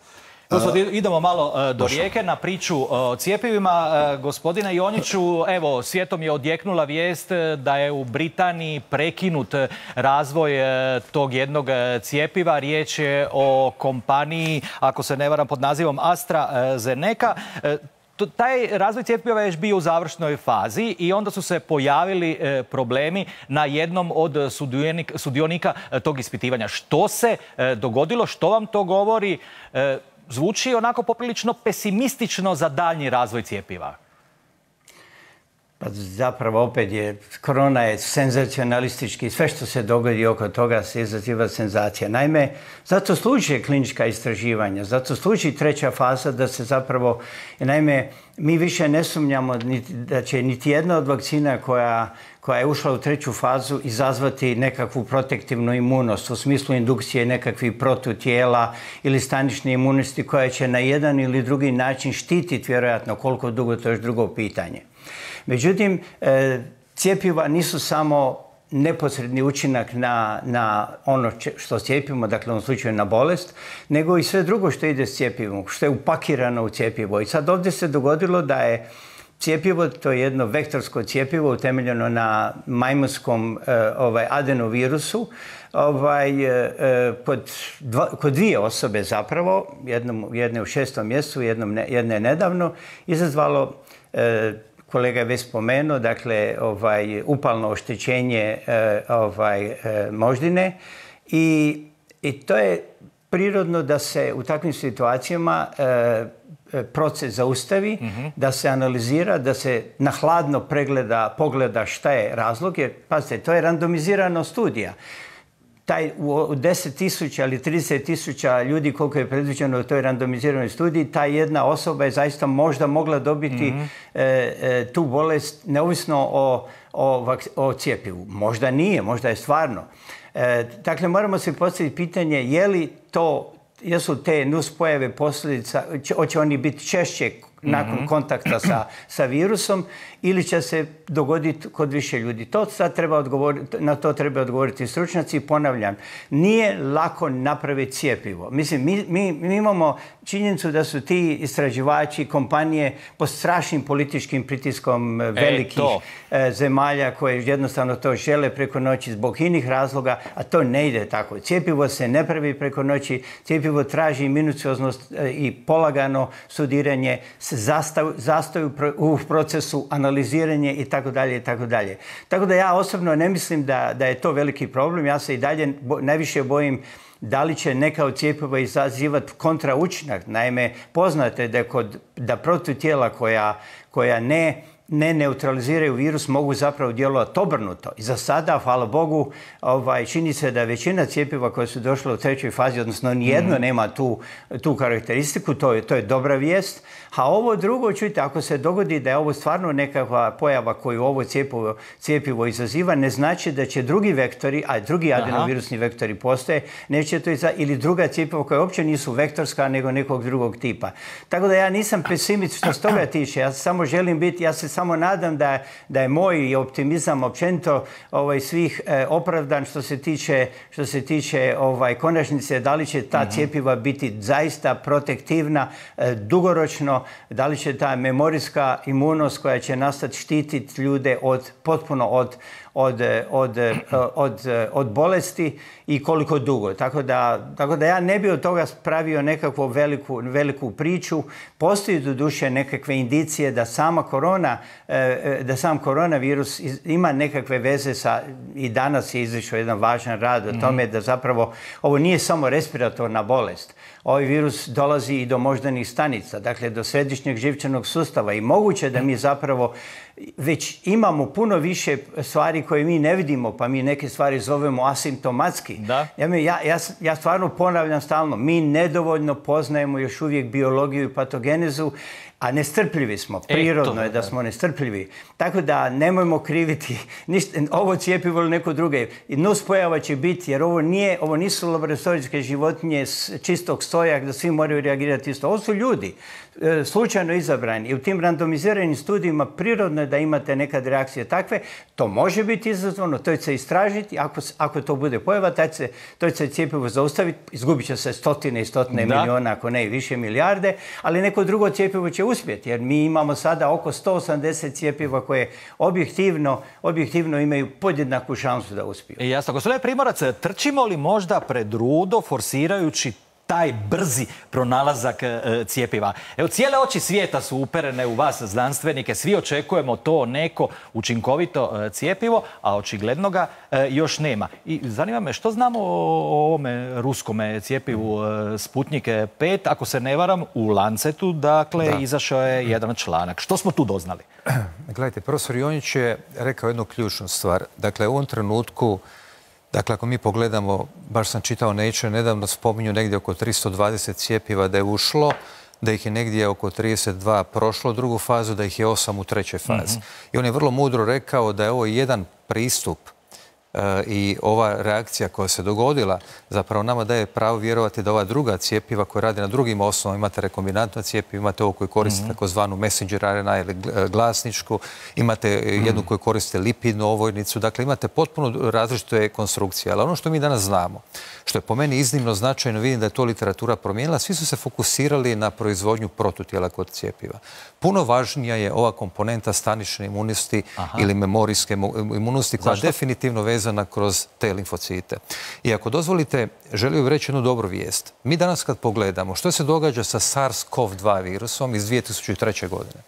Gospod, idemo malo do Rijeke na priču o cjepivima. Gospodine Jonjiću, evo, svijetom je odjeknula vijest da je u Britaniji prekinut razvoj tog jednog cjepiva. Riječ je o kompaniji, ako se ne varam, pod nazivom AstraZeneca. Taj razvoj cjepiva je još bio u završnoj fazi i onda su se pojavili problemi na jednom od sudionika tog ispitivanja. Što se dogodilo? Što vam to govori? Zvuči onako poprilično pesimistično za daljnji razvoj cjepiva. Pa zapravo opet je, korona je senzacionalistički, sve što se dogodi oko toga se izaziva senzacija. Naime, zato služi klinička istraživanja, zato služi treća faza da se zapravo, naime, mi više ne sumnjamo da će niti jedna od vakcina koja koja je ušla u treću fazu izazvati nekakvu protektivnu imunost u smislu indukcije nekakvih protutijela ili stanične imunosti koja će na jedan ili drugi način štititi, vjerojatno koliko dugo, to je još drugo pitanje. Međutim, cjepiva nisu samo neposredni učinak na, na ono što cijepimo, dakle u ovom slučaju na bolest, nego i sve drugo što ide s cjepivom, što je upakirano u cjepivo. I sad ovdje se dogodilo da je cjepivo, to je jedno vektorsko cjepivo utemeljeno na majmunskom ovaj, adenovirusu, ovaj, eh, kod, dva, kod dvije osobe zapravo, jednom, jedne u šestom mjesecu, jednom ne, jedne nedavno, izazvalo, eh, kolega je već spomenuo, dakle, ovaj, upalno oštećenje eh, ovaj, eh, moždine i, i to je prirodno da se u takvim situacijama eh, proces zaustavi, mm-hmm. da se analizira, da se na hladno pregleda, pogleda šta je razlog, jer, pazite, to je randomizirana studija. Taj u deset tisuća ili trideset tisuća ljudi koliko je predviđeno u toj randomiziranoj studiji, ta jedna osoba je zaista možda mogla dobiti mm-hmm. e, e, tu bolest neovisno o, o, o cijepivu. Možda nije, možda je stvarno. E, dakle, moramo se postaviti pitanje je li to, jesu te nuspojave posljedica, hoće oni biti češće nakon mm-hmm. kontakta sa, sa virusom ili će se dogoditi kod više ljudi. To sad treba odgovoriti, na to treba odgovoriti stručnjaci. Ponavljam, nije lako napraviti cjepivo. Mislim, mi, mi, mi imamo činjenicu da su ti istraživači, kompanije pod strašnim političkim pritiskom velikih e, zemalja koje jednostavno to žele preko noći zbog inih razloga, a to ne ide tako. Cjepivo se ne pravi preko noći, cjepivo traži minucioznost i polagano studiranje, se zastaju, zastaju u procesu analiziranje i tako dalje i tako dalje. Tako da ja osobno ne mislim da, da je to veliki problem. Ja se i dalje bo, najviše bojim da li će neka od cjepiva izazivati kontraučinak. Naime, poznato je da, kod, da protutijela koja, koja ne ne neutraliziraju virus, mogu zapravo djelovati obrnuto. I za sada, hvala Bogu, ovaj, čini se da većina cjepiva koje su došle u trećoj fazi, odnosno nijedno mm. nema tu, tu karakteristiku, to je, to je dobra vijest. A ovo drugo, čujte, ako se dogodi da je ovo stvarno nekakva pojava koju ovo cjepivo, cjepivo izaziva, ne znači da će drugi vektori, a drugi adenovirusni vektori postoje, neće to iza, ili druga cjepiva koja uopće nisu vektorska, nego nekog drugog tipa. Tako da ja nisam pesimist što s toga tiče. Ja samo želim biti, ja se samo nadam da, da je moj optimizam općenito ovaj, svih eh, opravdan što se tiče, što se tiče ovaj, konačnice, da li će ta mm-hmm. cjepiva biti zaista protektivna, eh, dugoročno, da li će ta memorijska imunost koja će nastati štititi ljude od, potpuno od, od, od, od, od bolesti i koliko dugo. Tako da, tako da ja ne bi od toga pravio nekakvu veliku, veliku priču. Postoji doduše nekakve indicije da sama korona, da sam koronavirus ima nekakve veze sa, i danas je izašao jedan važan rad o tome da zapravo ovo nije samo respiratorna bolest. Ovaj virus dolazi i do moždanih stanica, dakle do središnjeg živčanog sustava i moguće da mi zapravo već imamo puno više stvari koje mi ne vidimo, pa mi neke stvari zovemo asimptomatski. Da. Ja, ja, ja, ja stvarno ponavljam stalno, mi nedovoljno poznajemo još uvijek biologiju i patogenezu, a nestrpljivi smo. Prirodno je da smo nestrpljivi. Tako da nemojmo kriviti ništa, ovo cjepivo ili neko druge. Nuspojava će biti, jer ovo, nije, ovo nisu laboratorijske životinje s čistog stoja da svi moraju reagirati isto. Ovo su ljudi, slučajno izabrani. I u tim randomiziranim studijima prirodno je da imate nekad reakcije takve. To može biti izazvano, to će se istražiti. Ako, ako to bude pojava, to će se cjepivo zaustaviti. Izgubit će se stotine i stotine da. milijuna, ako ne i više milijarde, ali neko drugo cjepivo će uspjeti, jer mi imamo sada oko sto osamdeset cjepiva koje objektivno, objektivno imaju podjednaku šansu da uspiju. I jasno, gospodine Primorac, trčimo li možda pred rudo forsirajući taj brzi pronalazak e, cijepiva? Evo, cijele oči svijeta su uperene u vas, znanstvenike, svi očekujemo to neko učinkovito e, cijepivo, a očigledno ga e, još nema. I zanima me, što znamo o ovome ruskome cijepivu e, Sputnik pet? Ako se ne varam, u Lancetu, dakle, da. izašao je jedan članak. Što smo tu doznali? Gledajte, profesor Jonjić je rekao jednu ključnu stvar. Dakle, u ovom trenutku, dakle, ako mi pogledamo, baš sam čitao Nature, nedavno spominju negdje oko tristo dvadeset cijepiva da je ušlo, da ih je negdje oko trideset dva prošlo drugu fazu, da ih je osam u trećoj fazi. Mm-hmm. I on je vrlo mudro rekao da je ovo jedan pristup i ova reakcija koja se dogodila zapravo nama daje pravo vjerovati da ova druga cijepiva koja radi na drugim osnovama, imate rekombinantno cijepivo, imate ovo koje koriste mm-hmm. takozvanu messenger R N A ili glasničku, imate mm-hmm. jednu koju koriste lipidnu ovojnicu, dakle imate potpuno različite konstrukcije. Ali ono što mi danas znamo, što je po meni iznimno značajno, vidim da je to literatura promijenila, svi su se fokusirali na proizvodnju protutijela kod cijepiva. Puno važnija je ova komponenta stanične imunosti Aha. ili memorijske imunosti koja je definitivno vezana kroz te limfocite. I ako dozvolite, želio bih reći jednu dobru vijest. Mi danas kad pogledamo što se događa sa SARS-CoV dva virusom iz dvije tisuće treće. godine,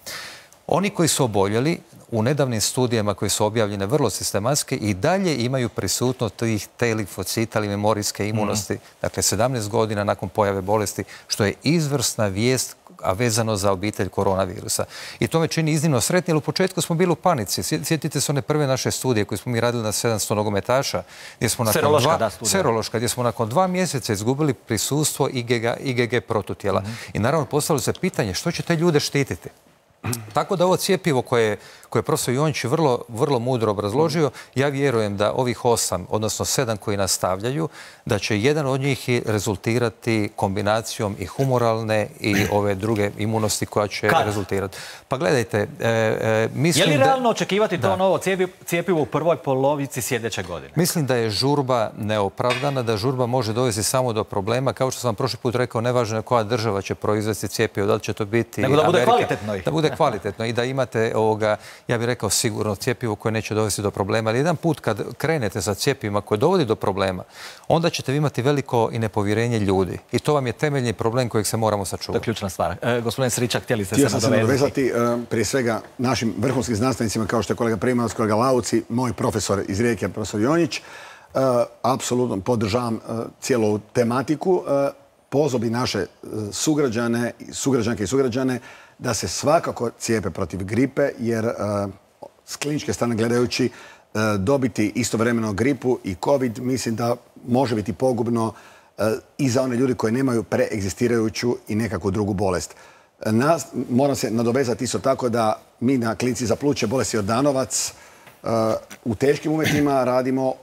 oni koji su oboljeli u nedavnim studijama koje su objavljene vrlo sistematski i dalje imaju prisutnost tih te limfocita ili memorijske imunosti, mm. dakle sedamnaest godina nakon pojave bolesti, što je izvrsna vijest, a vezano za obitelj koronavirusa. I to me čini iznimno sretni, jer u početku smo bili u panici. Sjetite se one prve naše studije koje smo mi radili na sedamsto nogometaša, gdje smo nakon serološka, dva, da, studija. serološka, gdje smo nakon dva mjeseca izgubili prisustvo I G G, I G G protutijela. Mm-hmm. I naravno postavilo se pitanje što će te ljude štititi. Tako da ovo cijepivo koje, koje je profesor Jonjić vrlo, vrlo mudro obrazložio, ja vjerujem da ovih osam, odnosno sedam koji nastavljaju, da će jedan od njih rezultirati kombinacijom i humoralne i ove druge imunosti koja će Kad? rezultirati. Pa gledajte, e, e, mislim da... Je li realno da, očekivati to da. novo cijepivo u prvoj polovici sljedeće godine? Mislim da je žurba neopravdana, da žurba može dovesti samo do problema. Kao što sam prošli put rekao, nevažno je koja država će proizvesti cijepivo, da li će to biti Nego da bude Amerika, kvalitetno. Da bude kvalitetno i da imate ovoga, ja bih rekao sigurno cijepivo koje neće dovesti do problema. Ali jedan put kad krenete sa cjepivima koje dovodi do problema, onda ćete imati veliko i nepovjerenje ljudi. I to vam je temeljni problem kojeg se moramo sačuvati. To je ključna stvar. E, gospodin Sričak, htjeli ste Htio se nadovezati? nadovezati. Uh, prije svega našim vrhunskim znanstvenicima kao što je kolega Primorac, kolega Lauci, moj profesor iz Rijeke, profesor Jonjić. apsolutno podržavam cijelu tematiku. Pozvao bi naše sugrađane, sugrađanke i sugrađane da se svakako cijepe protiv gripe, jer s kliničke strane gledajući dobiti istovremeno gripu i covid mislim da može biti pogubno i za one ljudi koji nemaju preegzistirajuću i nekakvu drugu bolest. Nas, moram se nadovezati isto tako da mi na klinici za pluće bolesti Jordanovac u teškim uvjetima radimo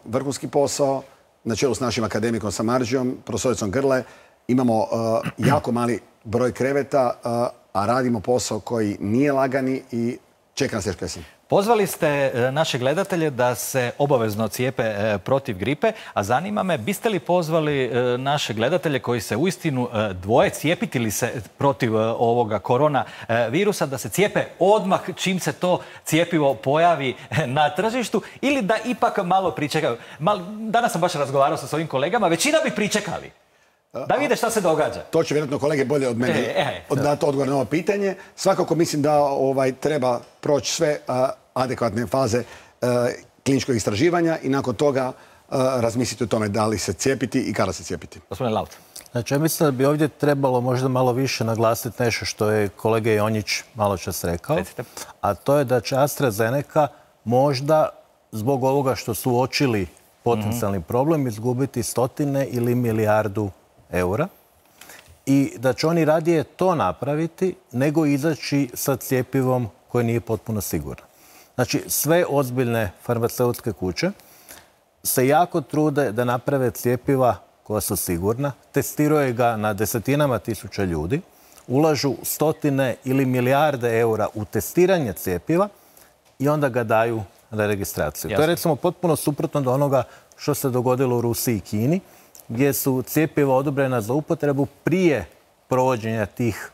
vrhunski posao na čelu s našim akademikom Samardžijom, profesoricom Grle. Imamo jako mali broj kreveta, a radimo posao koji nije lagani i čeka nas teška jesen. Pozvali ste naše gledatelje da se obavezno cijepe protiv gripe, a zanima me, biste li pozvali naše gledatelje koji se uistinu dvoje cijepiti li se protiv ovoga korona virusa, da se cijepe odmah čim se to cijepivo pojavi na tržištu ili da ipak malo pričekaju? Danas sam baš razgovarao sa svojim kolegama, većina bi pričekali. Da vide šta se događa. To će vjerojatno kolege bolje od mene e, e, dati odgovor na ovo pitanje. Svakako mislim da ovaj, treba proći sve a, adekvatne faze a, kliničkog istraživanja i nakon toga a, razmisliti o tome da li se cijepiti i kada se cijepiti. Gospodine Laut. Znači, ja mislim da bi ovdje trebalo možda malo više naglasiti nešto što je kolega Jonjić malo čas rekao. Recite. A to je da će AstraZeneca možda zbog ovoga što su uočili potencijalni mm-hmm. problem izgubiti stotine ili milijardu eura i da će oni radije to napraviti nego izaći sa cjepivom koje nije potpuno sigurno. Znači, sve ozbiljne farmaceutske kuće se jako trude da naprave cjepiva koja su sigurna, testiraju ga na desetinama tisuća ljudi, ulažu stotine ili milijarde eura u testiranje cjepiva i onda ga daju na registraciju. Jasne. To je recimo potpuno suprotno do onoga što se dogodilo u Rusiji i Kini, gdje su cjepiva odobrena za upotrebu prije provođenja tih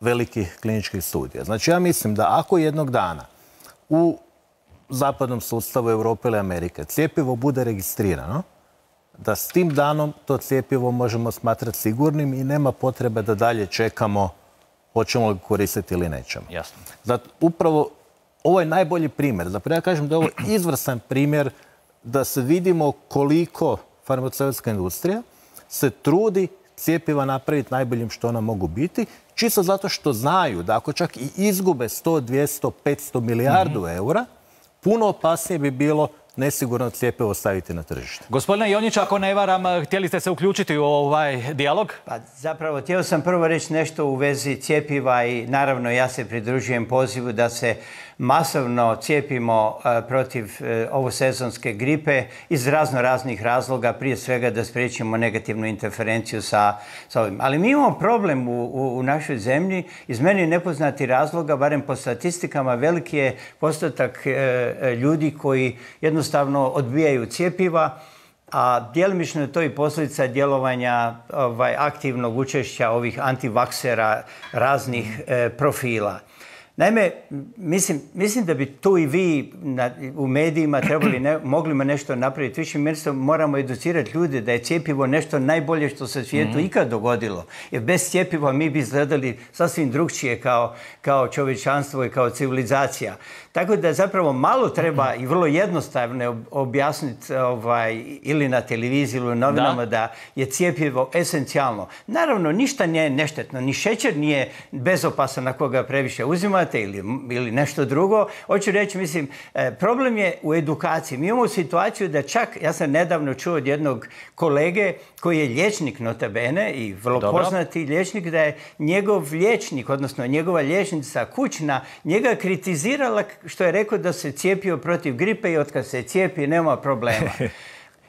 velikih kliničkih studija. Znači, ja mislim da ako jednog dana u zapadnom sustavu Europe ili Amerike cjepivo bude registrirano, da s tim danom to cjepivo možemo smatrati sigurnim i nema potrebe da dalje čekamo hoćemo li koristiti ili nećemo. Jasno. Zato upravo ovo je najbolji primjer. Zapravo ja kažem da je ovo izvrstan primjer da se vidimo koliko farmaceutska industrija se trudi cjepiva napraviti najboljim što ona mogu biti, čisto zato što znaju da ako čak i izgube sto, dvjesto, petsto milijardu mm-hmm. eura, puno opasnije bi bilo nesigurno cjepivo staviti na tržište. Gospodine Jonjić, ako ne varam, htjeli ste se uključiti u ovaj dijalog? Pa zapravo, htio sam prvo reći nešto u vezi cjepiva i naravno ja se pridružujem pozivu da se masovno cijepimo protiv ovosezonske gripe iz razno raznih razloga, prije svega da spriječimo negativnu interferenciju sa, sa ovim. Ali mi imamo problem u, u, u našoj zemlji iz meni nepoznati razloga, barem po statistikama, veliki je postotak e, ljudi koji jednostavno odbijaju cjepiva, a djelimično je to i posljedica djelovanja ovaj, aktivnog učešća ovih antivaksera raznih e, profila. Naime, mislim, mislim da bi tu i vi na, u medijima trebali ne, mogli nešto napraviti. Više mjesto moramo educirati ljude da je cjepivo nešto najbolje što se svijetu mm-hmm. ikad dogodilo. Jer bez cjepiva mi bi izgledali sasvim drugčije kao, kao čovječanstvo i kao civilizacija. Tako da zapravo malo treba i vrlo jednostavno objasniti ovaj, ili na televiziji ili u novinama da. da je cjepivo esencijalno. Naravno, ništa nije neštetno. Ni šećer nije bezopasan ako ga previše uzimate ili, ili nešto drugo. Hoću reći, mislim, problem je u edukaciji. Mi imamo situaciju da čak, ja sam nedavno čuo od jednog kolege koji je liječnik nota bene i vrlo Dobro. poznati liječnik, da je njegov liječnik, odnosno njegova liječnica kućna, njega kritizirala što je rekao da se cijepio protiv gripe i otkad se cijepi nema problema.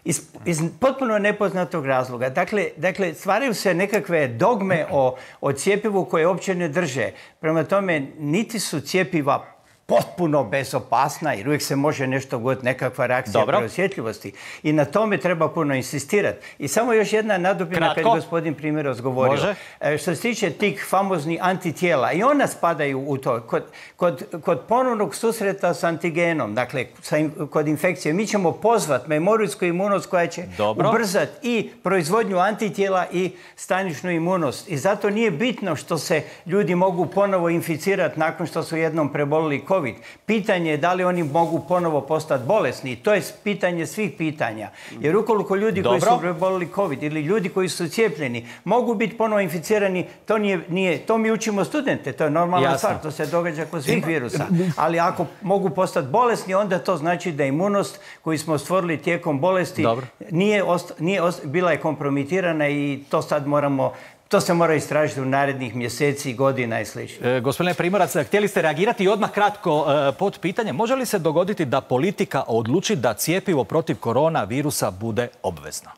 Iz, iz potpuno nepoznatog razloga. Dakle, dakle, stvaraju se nekakve dogme o, o cijepivu koje uopće ne drže. Prema tome, niti su cijepiva potpuno bezopasna, jer uvijek se može nešto god, nekakva reakcija preosjetljivosti. I na tome treba puno insistirati. I samo još jedna nadopuna kad je gospodin Primorac govorio. Može. Što se tiče tih famoznih antitijela, i ona spadaju u to. Kod, kod, kod ponovnog susreta s antigenom, dakle, sa, kod infekcije, mi ćemo pozvati memorijsku imunost koja će Dobro. ubrzati i proizvodnju antitijela i staničnu imunost. I zato nije bitno što se ljudi mogu ponovo inficirati nakon što su jednom prebolili COVID. Pitanje je da li oni mogu ponovo postati bolesni. To je pitanje svih pitanja. Jer ukoliko ljudi koji su prebolili COVID ili ljudi koji su cijepljeni mogu biti ponovo inficirani, to nije, to mi učimo studente, to je normalna stvar, to se događa kod svih virusa. Ali ako mogu postati bolesni, onda to znači da imunost koju smo stvorili tijekom bolesti nije, nije bila je kompromitirana i to sad moramo, to se mora istražiti u narednih mjeseci, godina i slično. E, gospodine Primorac, htjeli ste reagirati i odmah kratko e, pod pitanje. Može li se dogoditi da politika odluči da cjepivo protiv koronavirusa bude obvezno?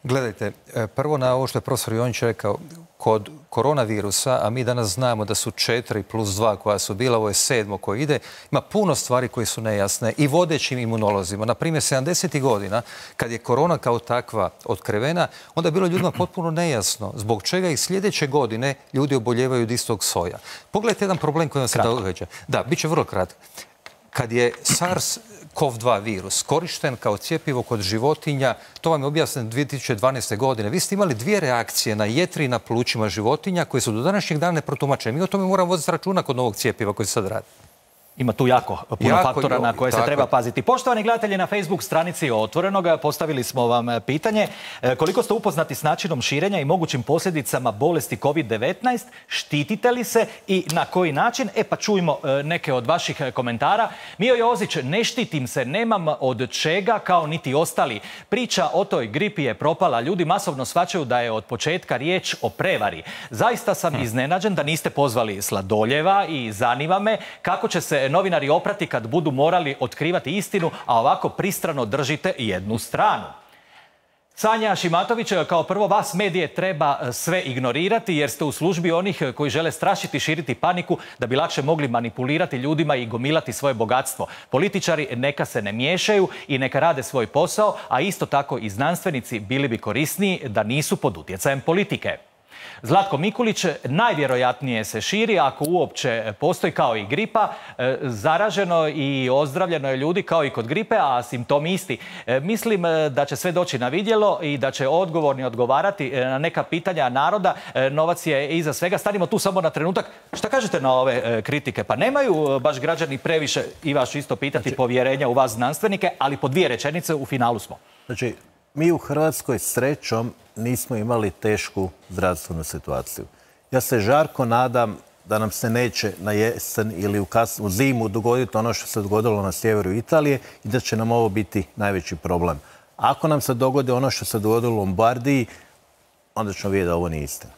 Gledajte, prvo na ovo što je profesor Jonjić rekao, kod koronavirusa, a mi danas znamo da su četiri plus dva koja su bila, ovo je sedmo koje ide, ima puno stvari koje su nejasne i vodećim imunolozima. Na primjer, sedamdesetih godina, kad je korona kao takva otkrivena, onda je bilo ljudima potpuno nejasno zbog čega i sljedeće godine ljudi oboljevaju od istog soja. Pogledajte jedan problem koji vam se događa. Da, bit će vrlo kratko. Kad je SARS kov dva virus korišten kao cjepivo kod životinja, to vam je objasneno dvije tisuće dvanaeste. godine. Vi ste imali dvije reakcije na jetri i na plućima životinja koje su do današnjeg dana neprotumačene. Mi o tome moramo voditi računa kod novog cjepiva koji se sad radi. Ima tu jako puno faktora na koje se treba paziti. Poštovani gledatelji, na Facebook stranici Otvorenoga postavili smo vam pitanje koliko ste upoznati s načinom širenja i mogućim posljedicama bolesti kovid devetnaest, štitite li se i na koji način? E pa čujmo neke od vaših komentara. Mio Jozić, ne štitim se, nemam od čega kao niti ostali. Priča o toj gripi je propala. Ljudi masovno shvaćaju da je od početka riječ o prevari. Zaista sam iznenađen da niste pozvali Sladoljeva i zanima me kako će se novinari oprati kad budu morali otkrivati istinu, a ovako pristrano držite jednu stranu. Sanja Šimatović, kao prvo vas medije treba sve ignorirati jer ste u službi onih koji žele strašiti, širiti paniku da bi lakše mogli manipulirati ljudima i gomilati svoje bogatstvo. Političari neka se ne miješaju i neka rade svoj posao, a isto tako i znanstvenici bili bi korisniji da nisu pod utjecajem politike. Zlatko Mikulić, najvjerojatnije se širi, ako uopće postoji kao i gripa, zaraženo i ozdravljeno je ljudi kao i kod gripe, a simptomi isti. Mislim da će sve doći na vidjelo i da će odgovorni odgovarati na neka pitanja naroda. Novac je iza svega. Stanimo tu samo na trenutak. Šta kažete na ove kritike? Pa nemaju baš građani previše, i vas isto pitati, znači, povjerenja u vas znanstvenike, ali po dvije rečenice u finalu smo. Znači, mi u Hrvatskoj srećom nismo imali tešku zdravstvenu situaciju. Ja se žarko nadam da nam se neće na jesen ili u, kas, u zimu dogoditi ono što se dogodilo na sjeveru Italije i da će nam ovo biti najveći problem. Ako nam se dogodi ono što se dogodilo u Lombardiji, onda ćemo vidjeti da ovo nije istina.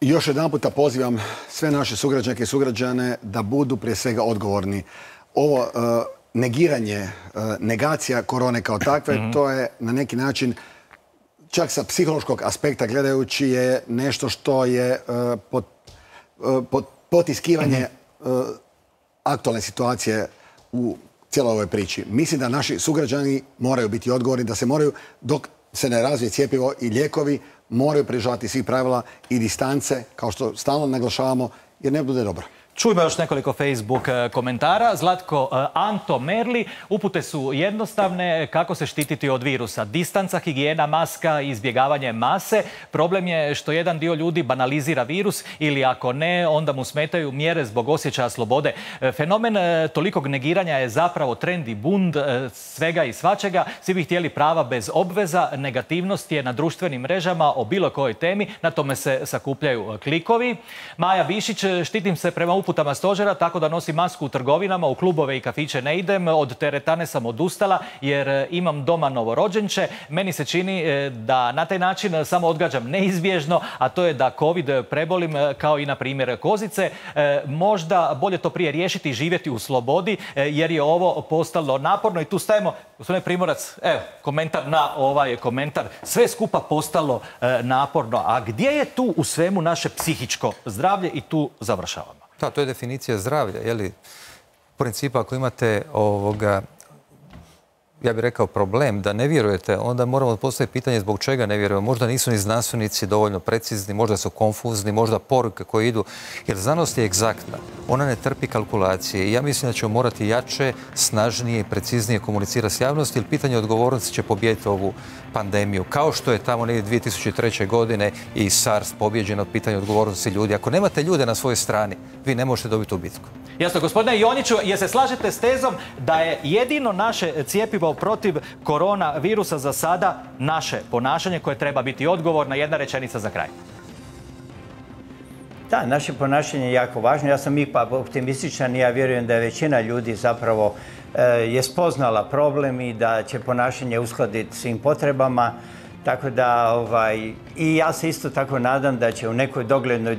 Još jedan puta pozivam sve naše sugrađanke i sugrađane da budu prije svega odgovorni. Ovo uh, negiranje, uh, negacija korone kao takve, mm-hmm. to je na neki način čak sa psihološkog aspekta gledajući je nešto što je uh, pot, uh, pot, potiskivanje uh, aktualne situacije u cijeloj ovoj priči. Mislim da naši sugrađani moraju biti odgovorni, da se moraju, dok se ne razvije cjepivo i lijekovi, moraju pridržavati svih pravila i distance, kao što stalno naglašavamo, jer ne bude dobro. Čujmo još nekoliko Facebook komentara. Zlatko, Anto Merli, upute su jednostavne, kako se štititi od virusa. Distanca, higijena, maska, izbjegavanje mase. Problem je što jedan dio ljudi banalizira virus ili ako ne, onda mu smetaju mjere zbog osjećaja slobode. Fenomen tolikog negiranja je zapravo trend i bund svega i svačega. Svi bi htjeli prava bez obveza. Negativnost je na društvenim mrežama o bilo kojoj temi. Na tome se sakupljaju klikovi. Maja Višić, štitim se prema uputama stožera, tako da nosim masku u trgovinama, u klubove i kafiće ne idem, od teretane sam odustala jer imam doma novorođenče. Meni se čini da na taj način samo odgađam neizbježno, a to je da COVID prebolim kao i na primjer kozice. Možda bolje to prije riješiti i živjeti u slobodi jer je ovo postalo naporno i tu stajemo. Gospodine Primorac, evo, komentar na ovaj komentar. Sve skupa postalo naporno. A gdje je tu u svemu naše psihičko zdravlje i tu završavamo? Da, to je definicija zdravlja. Je li, u principu, ako imate ovoga, ja bih rekao, problem da ne vjerujete, onda moramo postaviti pitanje zbog čega ne vjerujemo. Možda nisu ni znanstvenici dovoljno precizni, možda su konfuzni, možda poruke koje idu. Jer znanost je egzaktna. Ona ne trpi kalkulacije i ja mislim da ćemo morati jače, snažnije i preciznije komunicirati s javnosti, jer pitanje odgovornosti će pobijediti ovu pandemiju. Kao što je tamo negdje dvije tisuće treće. godine i SARS pobjeđen od pitanja odgovornosti ljudi. Ako nemate ljude na svojoj strani, vi ne možete dobiti u bitku. Jasno, gospodine Jonjiću, jer se slažete s tezom da je jedino naše cjepivo protiv koronavirusa za sada naše ponašanje koje treba biti odgovorna? Jedna rečenica za kraj. Da, naše ponašanje je jako važno. Ja sam ipak optimističan i ja vjerujem da je većina ljudi zapravo e, je spoznala problem i da će ponašanje uskladiti svim potrebama. Tako da, ovaj, i ja se isto tako nadam da će u nekoj doglednoj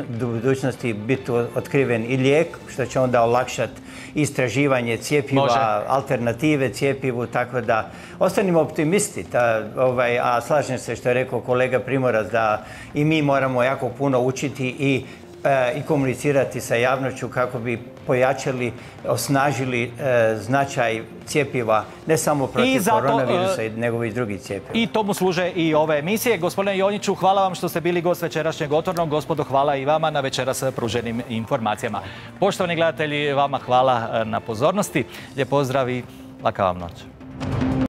budućnosti biti otkriven i lijek, što će onda olakšati istraživanje cijepiva, Može. alternative cijepivu, tako da ostanimo optimisti. Ta, ovaj, a slažem se što je rekao kolega Primorac da i mi moramo jako puno učiti i i komunicirati sa javnošću kako bi pojačali, osnažili e, značaj cijepiva ne samo protiv zato, koronavirusa, e, nego i drugih cijepiva. I tomu služe i ove emisije. Gospodine Jonjiću, hvala vam što ste bili gost večerašnjeg Otvorenog. Gospodo, hvala i vama na večeras pruženim informacijama. Poštovani gledatelji, vama hvala na pozornosti. Lijep pozdrav i laka vam noć.